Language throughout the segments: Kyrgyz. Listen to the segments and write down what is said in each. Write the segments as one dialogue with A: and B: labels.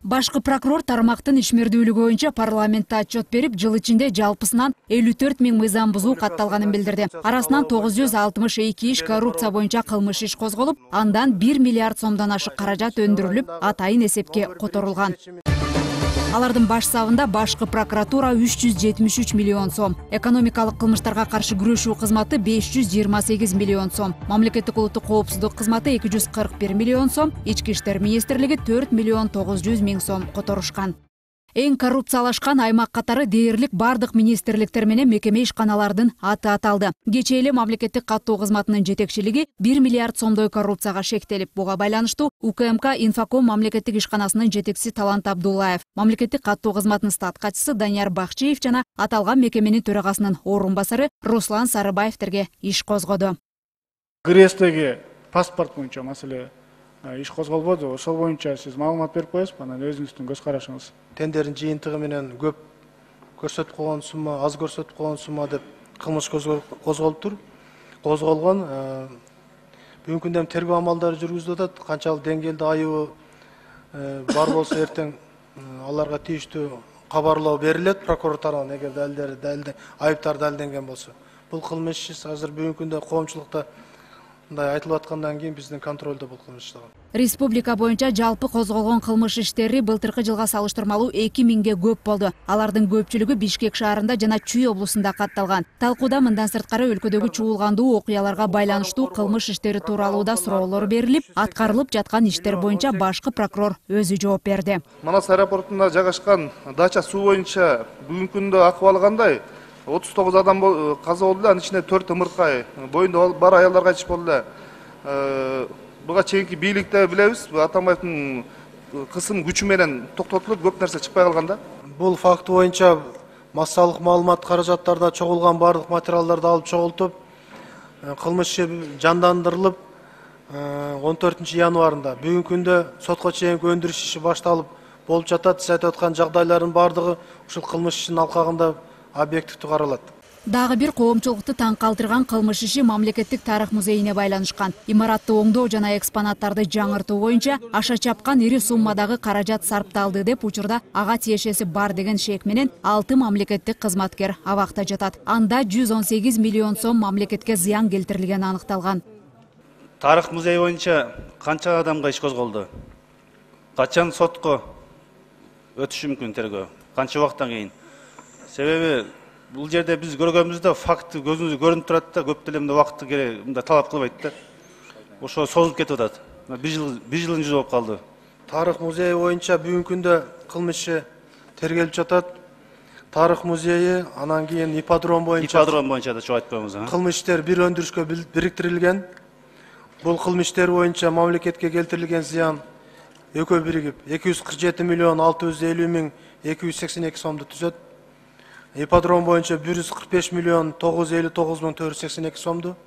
A: Башкы прокурор тармактын ишмердүүлүгү боюнча парламентте отчет берип, жыл ичинде жалпысынан 54 000 мыйзам бузуу катталганын билдирди. Арасынан 962 иш коррупция боюнча кылмыш иш козголуп, андан 1 миллиард сомдон ашык каражат өндүрүлүп, атайын эсепке которулган. Алардын баш сабында башкы прокуратура 373 миллион сом, экономикалык кылмыштарга каршы күрөшүү кызматы 528 миллион сом, мамлекеттик улуттук коопсуздук кызматы 241 миллион сом, ички иштер министрлиги 4 миллион 900 миң сом которушкан. Эң коррупциялашкан аймак катары дээрлик бардык министрликтер менен мекеме ишканалардын аты аталды. Кечээ эле мамлекеттик каттоо кызматынын жетекчилиги 1 миллиард сомдой коррупцияга шектелип, буга байланыштуу УКМК Инфоком мамлекеттик ишканасынын жетекчиси Талант Абдуллаев, мамлекеттик каттоо кызматынын статкачысы Данияр Бакчиев жана аталган мекеменин төрагасынын орун басары Руслан Сарыбаевтерге иш козгоду.
B: ГРЭСтеги паспорт боюнча маселе иш козголбоду. Ошол боюнча сиз маалымат берип коесузбу? Анан өзүңүздүн көз карашыңыз.
C: Тендердин жыйынтыгы менен көп көрсөтүп койгон сумма, аз көрсөтүп койгон сумма деп кылмыш козголуптур. Козголгон. Бүгүнкү күндө тергөө амалдары жүргүзүлүп атат. Канчалык деңгээлде айыбы бар болсо эртең аларга тийиштүү кабарлоо берилет прокурор тарабынан, эгер айыптар далилденген болсо. Бул кылмыш иш азыр бүгүнкү күндө коомчулукта мындай айтылып аткандан кийин биздин контролдо бул кылмыш иштеген.
A: Республика боюнча жалпы козголгон кылмыш иштери былтыркы жылга салыштырмалуу 2000ге көп болду. Алардын көпчүлүгү Бишкек шаарында жана Чүй облусунда катталган. Талкууда мындан сырткары өлкөдөгү чуулгандуу окуяларга байланыштуу кылмыш иштери тууралуу да суроолор берилип, аткарылып жаткан иштер боюнча башкы прокурор өзү жооп берди.
D: Манас аэропортунда жайгашкан дача суу боюнча бүгүнкү күндө акыбалы кандай? 39 адам каза болду, анын ичинде 4 ымыркай, боюнда бар аялдар кайтыш болду. Буга чейинки бийликте билебиз, Атамбаевдин кысым күчү менен токтотулуп, көп нерсе чыкпай калган да.
C: Бул факт боюнча массалык маалымат каражаттарда чогулган бардык материалдарды алып чогултуп, кылмыш жандандырылып, 14 январында бүгүнкү күндө сотко чейинки өндүрүш иши башталып болуп жатат. Сиз айтып аткан жагдайлардын бардыгы ушул кылмыш ишинин алкагында объективдүү каралат.
A: Дагы бир коомчулукту таң калтырган кылмыш иши мамлекеттик тарых музейине байланышкан. Имаратты оңдоо жана экспонаттарды жаңыртуу боюнча аша чапкан ири суммадагы каражат сарпталды деп учурда ага тиешеси бар деген шек менен 6 мамлекеттик кызматкер абакта жатат. Анда 118 миллион сом мамлекетке зыян келтирилгени аныкталган.
E: Тарых музей боюнча канча адамга иш козголду? Качан сотко өтүшү мүмкүн тергөө? Канча убакыттан кийин? Себеби бул жерде биз көргөнүбүздө факт көзүбүзгө көрүнүп турат да, көп деле мындай убакытты мындай талап кылбайт да. Ошо созулуп кетип атат. Bir жылдын жүзү болуп калды.
C: Тарых музейи боюнча бүгүнкү күндө кылмыш иши тергелип жатат. Тарых музейи, анан кийин ипподром боюнча
E: да чоң айтпайбыз.
C: Кылмыш иштер бир өндүрүшкө бириктирилген. Бул кылмыш иштер боюнча мамлекетке келтирилген зыян экөө биригип 247 миллион 650 миң 282 сомду түзөт. Ипподром боюнча 145 миллион 959 миң 482 сомду.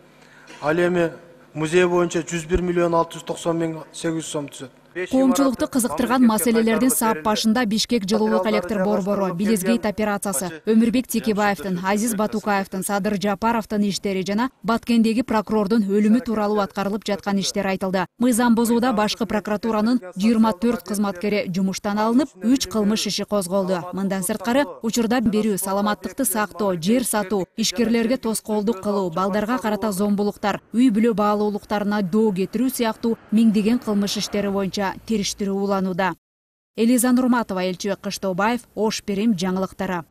C: Ал эми музей боюнча 101 миллион 690 миң 800 сом түзөт.
A: Коомчулукту кызыктырган маселелердин сап башында Бишкек жылуулук электр борбору, Билизгейт операциясы, Өмүрбек Текебаевдин, Азиз Батукаевдин, Садыр Жапаровдун иштери жана Баткендеги прокурордун өлүмү тууралуу аткарылып жаткан иштер айтылды. Мыйзам бузууда башкы прокуратуранын 24 кызматкери жумуштан алынып, 3 кылмыш иши козголду. Мындан сырткары, учурда берүү, саламаттыкты сактоо, жер сатуу, ишкерлерге тоскоолдук кылуу, балдарга карата зомбулуктар, үй бүлө баалуулуктарына доо кетирүү сыяктуу миңдеген кылмыш иштери боюнча териштирүү уланууда. Элиза Нурматова, Элчибек Кыштообаев, Ош Перим жаңылыктары.